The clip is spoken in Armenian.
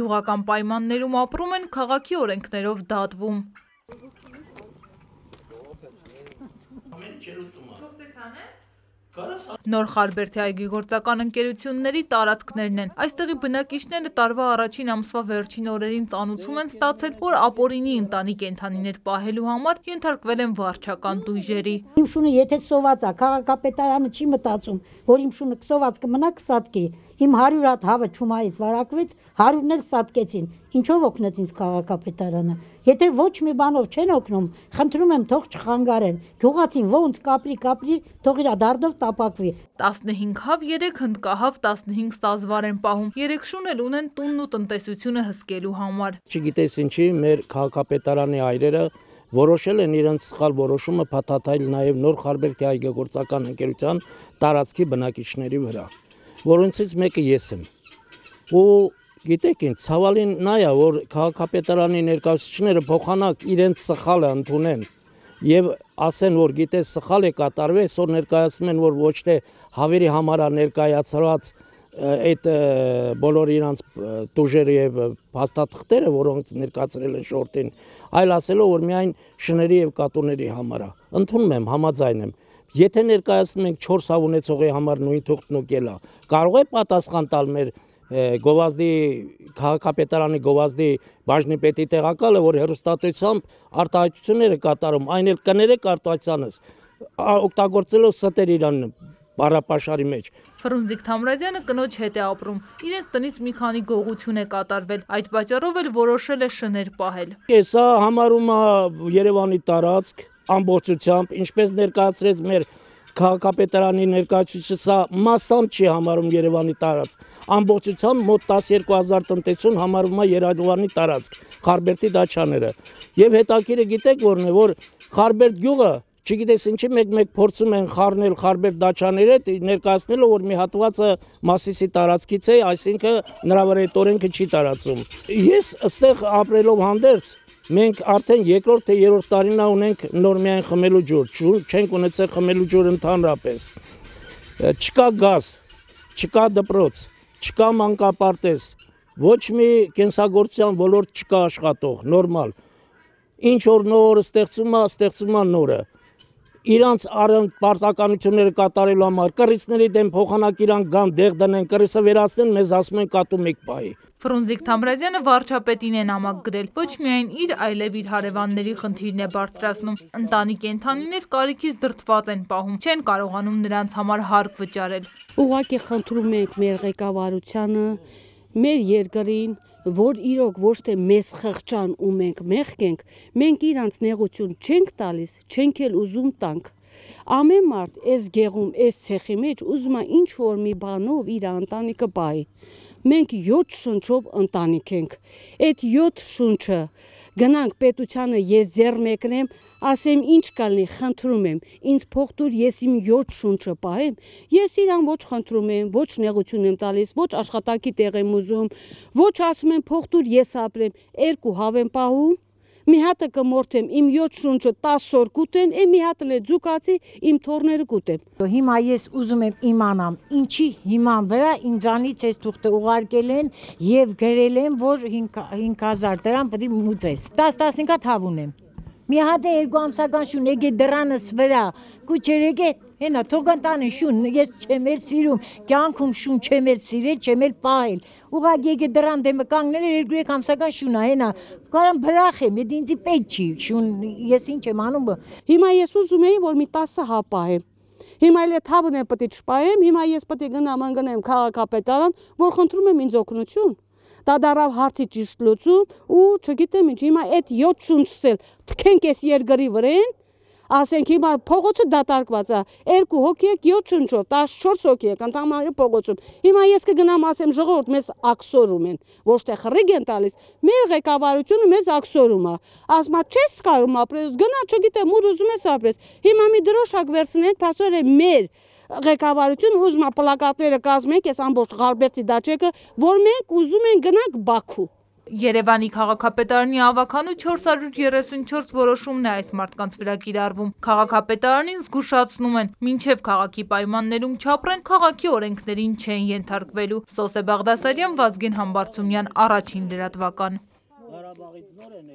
գյուղական պայմաններում ապրում են, քաղաքի օրենքներով դատվում։ Նոր Խարբերդի այգեգործական ընկերությունների տարածքներն են։ Այստեղի բնակիչները տարվա առաջին ամսվա վերջին օրերին ծանուցում են ստացել, որ ապօրինի ընտանի կենդանիներ պահելու համար ենթարկվել են վարչական դույժերի։ Իմ շունը եթե սոված է, քաղաքապետարանը չի մտածում, որ իմ շունը սոված կմնա կսատկի։ Իմ 100 հատ հավը չումայից վարակվեց, 100-ն էլ սատկեցին։ Ինչով օգնեց ինձ քաղաքապետարանը։ Եթե ոչ մի բանով չեն օգնում, խնդրում եմ թող չխանգարեն։ Գյուղացին ոնց կապրի, թող իր դառնով տապակվի։ 15 հավ, 3 հնդկահավ, 15 ստազվար են պահում։ 3 շուն էլ ունեն տունն ու տնտեսությունը հսկելու համար։ Չգիտես ինչի մեր քաղաքապետարանի այրերը որոշել են իրենց սխալ որոշումը փաթաթել նաև Նոր Խարբերդի այգեգործական ընկերության տարածքի բնակիչների վրա, որոնցից մեկը ես եմ։ Ու գիտեք ինչ, ցավալին նա է, որ քաղաքապետարանի ներկայացուցիչները փոխանակ իրենց սխալը ընդունեն եւ ասեն, որ գիտես սխալ է կատարվել, այսօր ներկայացնում են, որ ոչ թե հավերի համար է ներկայացրած այդ բոլոր իրանց տուժերը եւ փաստաթղթերը, որոնք ներկայացրել են շորտին, այլ ասելով, որ միայն շների եւ կատուների համար է։ Ընդունում եմ, համաձայն եմ։ Եթե ներկայացնում ենք 4 հավ ունեցողի համար նույն թուղթն ու կելա, կարող է պատասխան տալ մեր գովազդի քաղաքապետարանի գովազդի բաժնի պետի տեղակալը, որ հերոստատությամբ արտահայտությունները կատարում, այն էլ կներեք արտահայտությունս, օգտագործելով ստեր իրան բառապաշարի մեջ։ Ֆրունզիկ Թամրազյանը կնոջ հետ է ապրում։ Իրենց տնից մի քանի գողություն է կատարվել, այդ պատճառով էլ որոշել է շներ պահել։ Սա համարում է Երևանի տարածք ամբողջությամբ, ինչպես ներկայացրեց մեր քաղաքապետարանի ներկայացուցիչը, սա մասամբ չի համարում Երևանի տարածք, ամբողջությամբ մոտ 12,000 տնտեսություն համարում է Երևանի տարածք, Խարբերդի դաչաները։ Եվ հետաքրքիրը գիտեք որն է, որ Խարբերդ գյուղը չգիտես ինչի մեկ փորձում են խառնել Խարբերդ դաչաները, ներկայացնելով, որ մի հատվածը Մասիսի տարածքից է, այսինքն նրա վրա այդ օրենքը չի տարածում։ Ես այստեղ ապրելով հանդերձ, մենք արդեն երկրորդ թե երրորդ տարին ունենք նոր միայն խմելու ջուր, չենք ունեցել խմելու ջուր ընդհանրապես։ Չկա գազ, չկա դպրոց, չկա մանկապարտեզ, ոչ մի կենսագործության ոլորտ չկա աշխատող, նորմալ։ Ինչ որ նոր ստեղծում է նորը։ Իրանց պարտականությունները կատարելու համար կռիցների դեմ փոխանակ իրանք գան դեղ դնեն, կռիսը վերացնեն, մեզ ասում են կատու մեկ պահի։ Ֆրունզիկ Թամրազյանը վարչապետին է նամակ գրել, ոչ միայն իր, այլև իր հարևանների խնդիրն է բարձրացնում։ Ընտանի կենդանիներ կարիքից դրդված են պահում, չեն կարողանում նրանց համար հարկ վճարել։ Ուղղակի խնդրում ենք մեր ղեկավարությանը, մեր երկրին, որ իրոք ոչ թե մեզ խղճան ու մենք մեղքենք, մենք իրանց նեղություն չենք տալիս, չենք էլ ուզում տանք։ Ամեն մարդ այս գեղում, այս ցեխի մեջ ուզում է ինչ որ մի բանով իր ընտանիքը պահի։ Մենք 7 շունչով ընտանիք ենք։ Այդ 7 շունչը գնանք պետությանը, ես ձեռ մեկնեմ, ասեմ ինչ կալնի, խնդրում եմ, ինձ փող տուր, ես իմ 7 շունչը պահեմ, ես իրան ոչ խնդրում եմ, ոչ նեղություն եմ տալիս, ոչ աշխատակի տեղ եմ ուզում, ոչ ասում եմ փող տուր, ես ապրեմ, 2 հավ եմ պահում, մի հատը կմորթեմ, իմ 7 շունչը 10 օր կուտեն, մի հատն է ձուկացի, իմ թորները կուտեմ։ Հիմա ես ուզում եմ իմանամ, ինչի հիման վրա ինձանից այս թուղթը ուղարկել են եւ գրել են, որ 5000 դրամ պետք է մուծես։ 10-15 հատ հավ ունեմ։ Մի հատ է 2 ամսական շուն, եկե դրանս վրա, կուչերեկե, հենա թողան տանը շուն, ես չեմ էլ սիրում, կյանքում շուն չեմ էլ սիրել, չեմ էլ պահել։ Ուղղակի եկե դրան դեմը կանգնել 2-3 ամսական շուն է, հենա, կարամ բրախեմ, այդ ինձի պետք չի, շուն, ես ինչ եմ անում։ Հիմա ես ուզում եի, որ մի 10 հավ պահեմ։ Հիմա էլ այդ հավն եմ պետք է չպահեմ, հիմա ես պետք է գնամ ընկնեմ քաղաքապետարան, որ խնդրում եմ ինձ օգնություն։ Դա դարավ հարցի ճիշտ լուծում ու չգիտեմ ինչ, հիմա այդ 7 շունչս էլ թքենք այս երկրի վրեն, ասենք հիմա փողոցը դատարկված է, 2 հոգի եք 7 շունչով, 14 հոգի եք ընդհանրապես փողոցում։ Հիմա ես կգնամ ասեմ ժողովուրդ մեզ աքսորում են, ոչ թե խռիգ են տալիս, մեր ղեկավարությունը մեզ աքսորում է։ Ասում է չես կարող ապրես, գնա չգիտեմ ուր ուզում ես ապրես։ Հիմա մի դրոշակ վերցնենք, փաստորեն մեր ղեկավարություն ուզում է պլակատները կազմենք, այս ամբողջ Խարբերդի դաչեկը, որ մենք ուզում ենք գնանք Բաքու։ Երևանի քաղաքապետարանի ավականու 434 որոշումն է այս մարդկանց վրա կիրառվում։ Քաղաքապետարանին զգուշացնում են, մինչև քաղաքի պայմաններում չապրեն, քաղաքի օրենքներին չեն ենթարկվելու։ Սոսե Բաղդասարյան, Վազգեն Համբարձումյան, Առաջին լրատվական։